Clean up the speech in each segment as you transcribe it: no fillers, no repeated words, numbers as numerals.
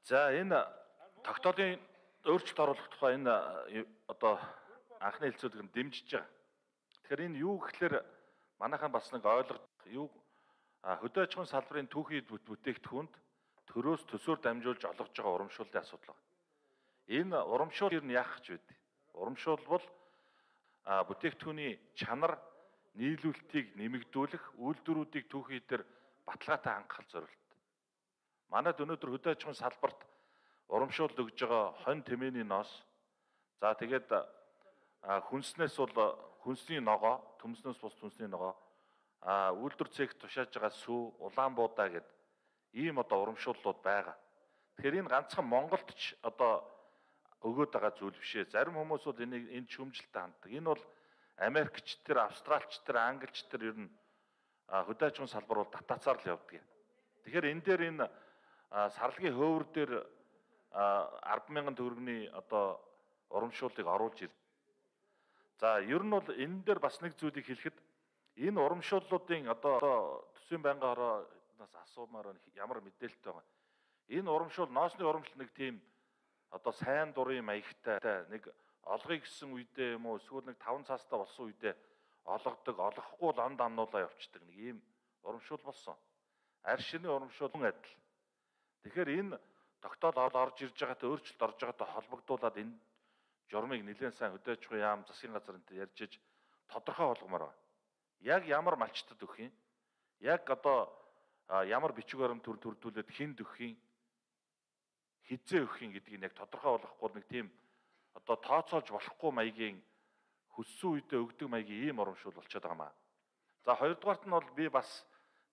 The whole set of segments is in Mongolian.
За энэ тогтоолын өөрчлөлт оруулах тухай энэ одоо анхны хэлцүүлэг нь дэмжиж байгаа. Тэгэхээр энэ юу гэхээр манайхан бас нэг ойлгох юу хөдөө аж ахуйн салбарын түүхий бүтээгдэхүүнд төрөөс төсөөр дамжуулж олгож байгаа урамшууллын асуудал байна. Энэ урамшуул ер нь яах гэж байдгийг. Урамшуул бол бүтээгдэхүүний чанар нийлүүлэлтийг нэмэгдүүлэх, үйлдвэрүүдийг түүхий дээр баталгаатай хангах зорилт. Манайд өнөөдөр хөдөө аж ахуйн салбарт урамшуулд өгж байгаа хонь тэмээний ноос. За тэгээд хүнснээс бол хүнсний ногоо, төмснөөс бус хүнсний ногоо, үйлдвэр цэгт тушааж байгаа сүү, улаан буудаа гэд ийм одоо урамшууллууд байгаа. Тэгэхээр энэ ганцхан Монголд ч одоо өгөөд байгаа зүйл биш ээ. Зарим хүмүүс бол энд шүмжилттэй ханддаг. Энэ бол Америкч тэр, Австралич тэр, Англич тэр ер нь хөдөө аж ахуйн салбар бол татаацаар л явдаг юм. Тэгэхээр энэ дээр энэ сарлагын хөвөр дээр 10,000 төгрөгийн одоо урамшууллыг оруулж ирд. За ер нь бол энэ дээр бас нэг зүйлийг хэлэхэд энэ урамшууллуудын одоо төсвийн байнгын хорооноос асуумаар ямар мэдээлэлтэй байгаа. Энэ урамшуул ноосны урамшил нэг тийм одоо сайн дурын маягтай нэг олгоё гэсэн үедээ юм уу эсвэл нэг 5 цаастаа болсон үедээ олгодог, олохгүй бол онд амнуулаа явчихдаг нэг ийм урамшуул болсон. Арь ширний урамшуулсан адил. Тэгэхээр энэ тогтоол орж ирж байгаатай өөрчлөлт орж байгаатай холбогдуулаад энэ журмыг нэлээд сайн хөдөө аж ахуйн яам засгийн газар энэ ярьж иж тодорхой болгомоор байна. Яг ямар малчтад өгөх юм? Яг одоо ямар бичиг баримт төрдүүлээд хинд өгөх юм? Хизээ өгөх юм гэдгийг яг тодорхой болгохгүй нэг тийм одоо тооцоолж болохгүй маягийн хөссөн үедээ өгдөг маягийн ийм урамшуул болчиход байгаа маа. За хоёрдугаарт нь бол би бас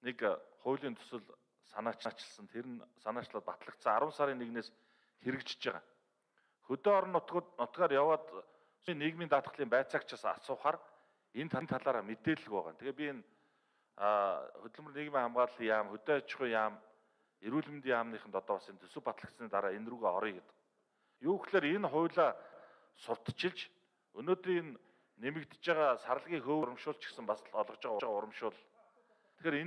нэг хуулийн төсөл санаачилсан. Тэр нь санаачлаад батлагдсан 10 сарын 1-ээс хэрэгжиж байгаа. Хөдөө орон нутгаар яваад нийгмийн даатгалын байцаагчаас асуухаар энэ талаараа мэдээлэл байгаа. Тэгээ би энэ хөдөлмөр нийгмийн хамгааллын яам, хөдөө аж ахуйн яам, эрүүл мэндийн яамныханд одоо бас энэ төсөв батлагдсны дараа энэ рүүгээ орё гэдэг. Юу гэхээр энэ хуулиа сурталчилж өнөөдрийн нэмэгдэж байгаа сарлагын хөвөр урамшуулч гэсэн бас олгож байгаа урамшуул. Тэгэхээр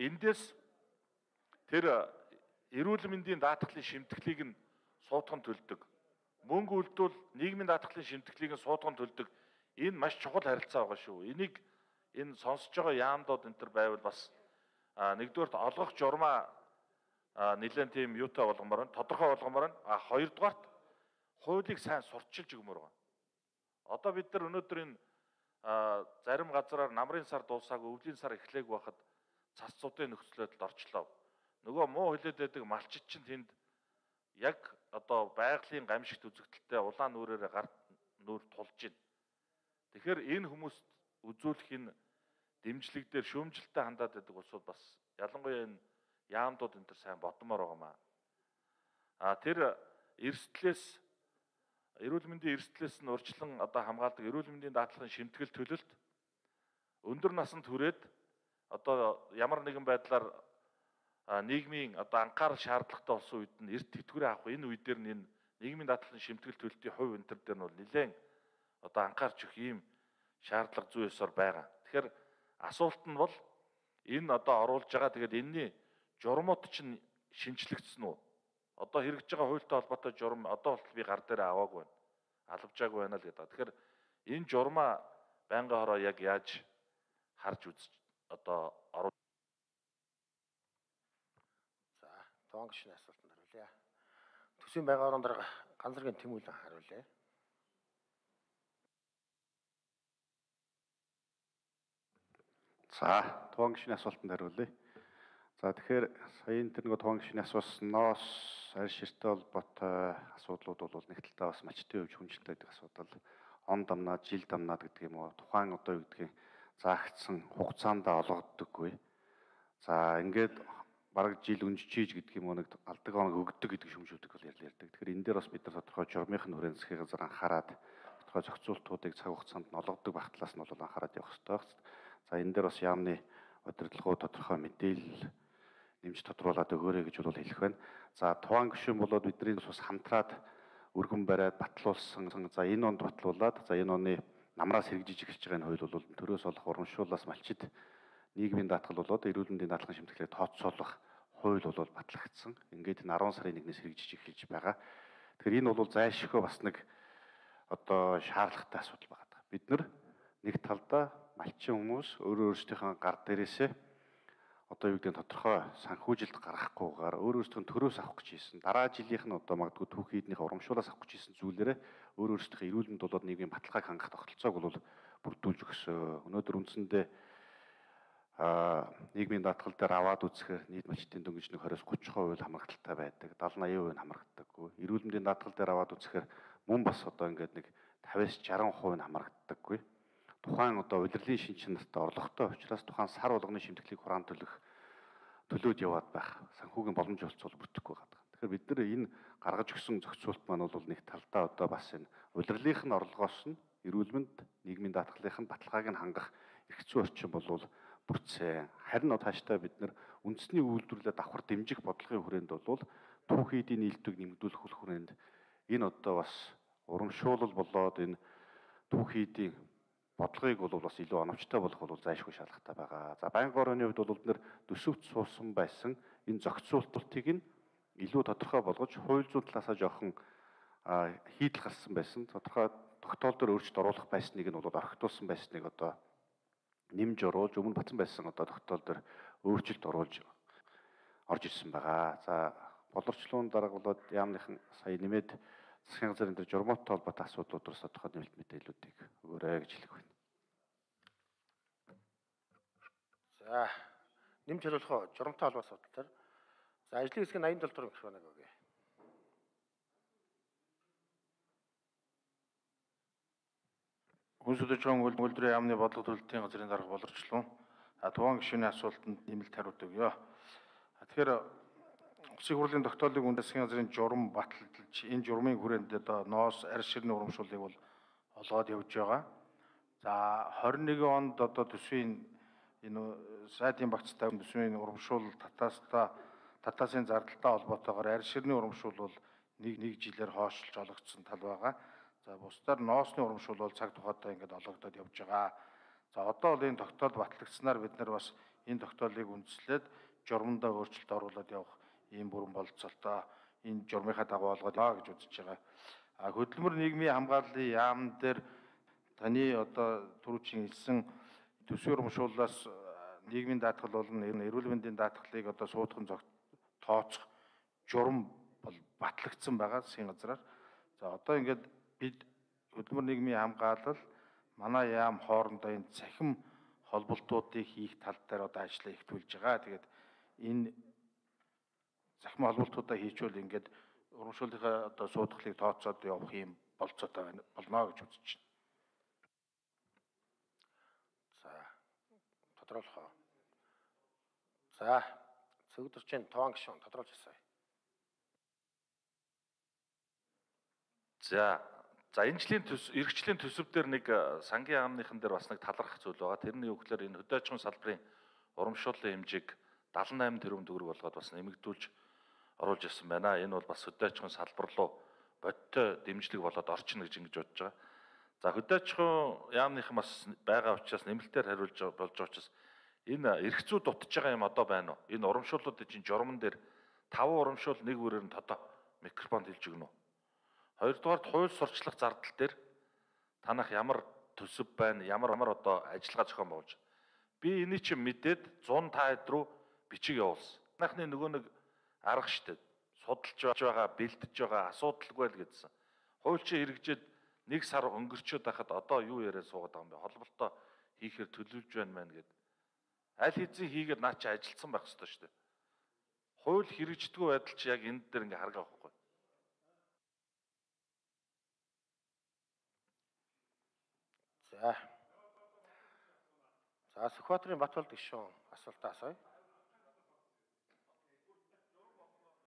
эндээс тэр эрүүл мэндийн даатгалын шимтгэлийг нь суудхан төлдөг. Мөнгө үлдвэл нийгмийн даатгалын шимтгэлийг нь суудхан төлдөг. Энэ маш чухал харилцаа байгаа шүү. Энийг энэ сонсож байгаа яамдууд энэ төр байвал бас нэгдүгээрт олгох журмаа нэлээд тийм юутай болгомоор байна, тодорхой болгомоор байна. Хоёрдугаарт хуулийг сайн сурталчилж өгмөр байна. Одоо бид нар өнөөдөр энэ зарим газараар намрын сар дуусаагүй, өвлийн сар эхлээг байхад цас цуудын нөхцөлөд орчлоо. Нөгөө муу хилээд байдаг малчид чинь тэнд яг одоо байгалийн гамшигт үзэгдэлтэй улаан нүрээрээ гарт нүр тулж байна. Тэгэхээр энэ хүмүүст үзүүлэх энэ дэмжлэг дээр шүүмжлэлтэй хандаад байдаг улсууд бас ялангуяа энэ яамдууд энэ төр сайн бодмоор байгаамаа. Тэр эрсдлээс эрүүл мэндийн эрсдлээс нь урьдчилан одоо хамгаалдаг эрүүл мэндийн даатгалын шимтгэл төлөлт өндөр насанд хүрээд одоо ямар нэгэн байдлаар нийгмийн одоо анхаарал шаардлагатай болсон үед нь эрт тэтгэврээ авах энэ үе дээр нь энэ нийгмийн даатгалын шимтгэл төлөлтийн хувь энэ төр дээр нь бол нэлээд одоо анхаарч өгөх ийм шаардлага зүй ёсоор байгаа. Тэгэхээр асуулт нь бол энэ одоо оруулж байгаа тэгээд энэний журмууд чинь шинжлэгдсэн үү? Одоо хэрэгжиж байгаа хуультай холбоотой журам одоо болтол би гар дээр аваагүй байна. Алавжаагүй байна л гэдэг. Тэгэхээр энэ журмаа байнгын хороо яг яаж харж үзэж одоо оруулж. За, Туан гишүүний асуултанд хариулъя. Төсвийн байнгын хороонд дарга ганцэргийн Тэмүүлэн хариулъя. За, Туан гишүүний асуултанд хариулъя. За тэгэхээр саяын тэр нэг Туан гишүүний асуусан ноос арь ширтэй холбоотой асуудлууд бол нэг талдаа бас мачтын хувьд хүнжилтэй байдаг асуудал. Он дамнаад, жил дамнаад гэдэг юм уу. Тухайн одоо юу гэдгийг заагдсан хугацаанд олгоддоггүй. За ингээд бараг жил өнжиж гэдэг юм уу нэг алдаг оног өгдөг гэдэг шүмжүүдийг бол ярьдаг. Тэгэхээр энэ дээр бас бид нар тодорхой журмынх нь хүрээнд засгийн газар анхаарад тодорхой зохицуултуудыг цаг хугацаанд нь олгодог байх талаас нь бол анхаарад явах хэрэгтэй. За энэ дээр бас яамны удирдлагууд тодорхой мэдээлэл нэмж тодруулаад өгөөрэй гэж бол хэлэх байна. За Туан гишүүн болоод бидний бас хамтраад өргөн бариад батлуулсан. За энэ онд батлуулаад за энэ оны намраас хэрэгжиж эхэлж байгаа энэ хууль бол төрөөс олох урамшууллаас малчид нийгмийн даатгал болоод эрүүл мэндийн даатгалын шимтгэлийг тооцоолох хууль бол батлагдсан. Ингээд энэ 10 сарын 1-ээс хэрэгжиж эхэлж байгаа. Тэгэхээр энэ бол зайлшгүй бас нэг одоо шаардлагатай асуудал байгаа. Бид нэг талдаа малчин хүмүүс өөрсдийнхөө гар дээрээсээ одоо юу гэдэг нь тодорхой санхүүжилт гаргахгүйгээр өөрсдөө төрөөс авах гэж хийсэн. Дараа жилийнх нь одоо магадгүй түүхий эднийхээ урамшуулаас авах гэж хийсэн зүйлээрээ өөрсдийнхөө эрүүл мэнд болоод нийгмийн баталгааг хангах тогтолцоог бол бүрдүүлж өгсөн. Өнөөдөр үндсэндээ нийгмийн даатгал дээр аваад үзэхээр нийт малчтын дөнгөж нэг 20-30% хамрагдaltaй байдаг. 70-80% хамрагддаггүй. Эрүүл мэндийн даатгал дээр аваад үзэхээр мөн бас одоо ингээд нэг 50-60% хамрагддаггүй. Тухайн одоо улирлын шин чанартай орлоготой учраас тухайн сар болгоны шимтгэлийг хураан төлөөд яваад байх санхүүгийн боломж олцвол бүрдэхгүй байгаа. Тэгэхээр бид нар энэ гаргаж өгсөн зохицуулт маань бол нэг талдаа одоо бас энэ улирлынх нь орлогоос нь эрүүл мэнд нийгмийн даатгалын баталгааг нь хангах эрх зүйн орчин болвол бүрдсэн. Харин тааштай бид нар үндэсний үйлдвэрлэлд давхар дэмжих бодлогын хүрээнд бол түүхий эдийн нийлтийг нэмэгдүүлэх хүрээнд энэ одоо бас урамшуулал болоод энэ түүхий эдийн бодлогыг бол бас илүү оновчтой болох бол зайлшгүй шаардлагатай байгаа. За байнгын орны хувьд бол бид нэр төсөвт суусан байсан энэ зохицуултыг нь илүү тодорхой болгож хууль зүйн талаасаа жоохон хийдэл гарсан байсан. Тодорхой тогтоол дээр өөрчлөлт оруулах байсныг нь бол орхитуулсан байсныг одоо нэмж оруулж өмнө бацсан байсан одоо тогтоол дээр өөрчлөлт оруулж орж ирсэн байгаа. За боловсролын дарга болоод яамныхан сая нэмээд засгийн газрын дээр журмуудтай холбоотой асуудлуудаас тодорхой нэмэлт мэдээллүүдийг өгөөрэй гэж хэлэх байна. За нэмж хариулах журамтай холбоо асуудал. За ажлын хэсгийн 87 дугаар гишүүнэг өгье. Хүн судалгааны үйлдвэрийн яамны бодлого төлөлтийн газрын дарга боловсролын тухайн гишүүний асуултанд нэмэлт хариулт өгье. Тэгэхээр Улсын хурлын тогтоолыг үндэсгийн газрын журам баталж энэ журмын хүрээнд одоо ноос арьс ширний урамшууллыг бол олгоод явж байгаа. За 21 онд одоо төсвийн энэ сайдын багцтай төсвийн урамшуул татаасын зардалтай холбоотойгоор арьс ширний урамшуул бол нэг жилээр хойшлж олгогдсон тал байгаа. За бусдаар ноосны урамшуул бол цаг тухайтай ингээд олгогдоод явж байгаа. За одоо бол энэ тогтоол батлагдсанаар бид нар бас энэ тогтоолыг үндэслээд журмандаа өөрчлөлт оруулаад явах ийм бүрэн бололцоолтой энэ журмынхаа дагуу олгоод яваа гэж үзэж байгаа. Хөдөлмөр нийгмийн хамгааллын яам дээр таны одоо түрүүчийн хэлсэн төсвийн урамшууллаас нийгмийн даатгал болон эрүүл мэндийн даатгалыг одоо суудхан тооцох журам бол батлагдсан байгаа засгийн газраар. За одоо ингээд бид хөдөлмөр нийгмийн хамгаалал манай яам хоорондоо энэ цахим холболтуудыг хийх тал дээр одоо ажиллаа эхлүүлж байгаа. Тэгээд энэ захим холболтуудаа хийчвэл ингээд урамшууллынхаа одоо суудгалыг тооцоод явах юм болцоотой болно гэж үзэж байна. За тодруулах. За цэгдэрчийн тован гишүүн тодруулж ирсэн. За энэ жилийн эрхчлэлийн төсөв дээр нэг сангийн яамныхан дээр бас нэг талархах зүйл байгаа. Тэрний юу гэхээр энэ хөдөө аж ахуйн салбарын урамшууллын хэмжээг 78 тэрбум төгрөг болгоод бас нэмэгдүүлж оруулж ирсэн байна. Энэ бол бас хөдөө аж ахуйн салбар руу бодиттой дэмжлэг болоод орчно гэж ингэж бодож байгаа. За хөдөө аж ахуйн яамныхан бас байгаа учраас нэмэлтээр хариулж болж байгаа учраас энэ эрх зүй дутж байгаа юм одоо байна уу? Энэ урамшууллуудын чинь журман дээр 5 урамшуул нэг үрээр нь тодоо микрофонд хэлж өгнө үү? Хоёрдугаард хууль сурчлах зардал дээр танах ямар төсөв байна, ямар одоо ажиллагаа зохион байгуулж. Би энийг чинь мэдээд 100 та хэд рүү бичиг явуулсан. Танахны нөгөө нэг арга штэ. Судалж байгаа, бэлдэж байгаа асуудалгүй л гэдсэн. Хууль чинь хэрэгжээд 1 сар өнгөрчөөд байхад одоо юу яриад суугаад байгаа юм бэ? Холболтоо хийхээр төлөвлөж байна мэн гэд. Аль хэзээ хийгээд наа чи ажилдсан байх ёстой штэ. Хууль хэрэгждэггүй байдал чи яг энэ дээр ингээ харгаа байхгүй. За Сүхбаатарын Батболд гишүүн асуултаа асууя.